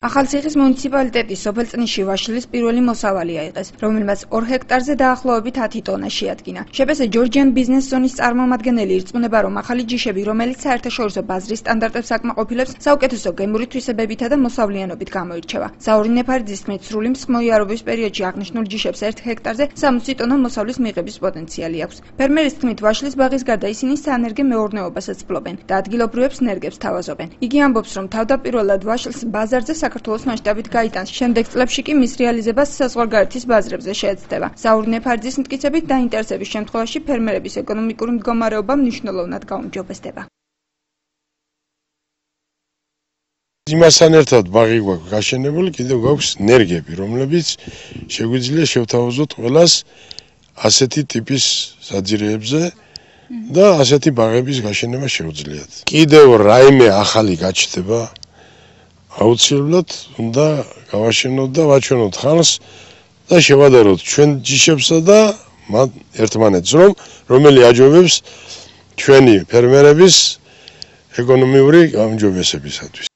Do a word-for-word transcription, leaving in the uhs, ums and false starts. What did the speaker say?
ახალციხის მუნიციპალიტეტის სოფელწნისში ვაშლის პირველი მოსავალი აიღეს, რომელმაც ორ ჰექტარზე დაახლოებით ათი ტონა შეადგინა. შეფესე ჯორჯიან ბიზნეს ზონის წარმომადგენელი ირწმუნება, რომ ახალი ჯიშები, რომელიც საერთაშორისო ბაზრის სტანდარტებს აკმაყოფილებს, საუკეთესო გემური თვისებებითა და მოსავლიანობით გამოირჩევა. ზაური ნეფარიძის თქმით, სრული მსხმოიარობის პერიოდში აღნიშნულ ჯიშებს ერთ ჰექტარზე სამოცი ტონა მოსავლის მიღების პოტენციალი აქვს. ფერმერის თქმით, ვაშლის ბაღის გარდა ისინი საენერგე მეურნეობასაც ფლობენ და ადგილობრივებს ნერგებს თავაზობენ. იგი ამბობს, რომ თავდაპირველად ვაშლს ბაზარზე საქართველოს მასშტაბით გაიტანს. შემდეგ წლებში კი მის რეალიზებას საზღვარგარეთის ბაზრებზე შეეცდება. ზაური ნეფარიძის მტკიცებით, დაინტერესების შემთხვევაში ფერმერების ეკონომიკური მდგომარეობა მნიშვნელოვნად გაუმჯობესდება. იმასთან ერთად ბაღი გვაქვს გაშენებული, კიდევ გვაქვს ნერგები, რომლებიც შეგვიძლია შევთავაზოთ ყველას ასეთი ტიპის საძირეებზე და ასეთი ბაღების გაშენება შეუძლიათ. კიდევ რაიმე ახალი გაჩნდება, აუცილებლად უნდა გავაშენოთ და ვაჩვენოთ ხალხს და შევადაროთ ჩვენ ჯიშებსა და ერთმანეთს, რომ რომელი აჯობებს ჩვენი ფერმერების ეკონომიური გაუმჯობესებისათვის.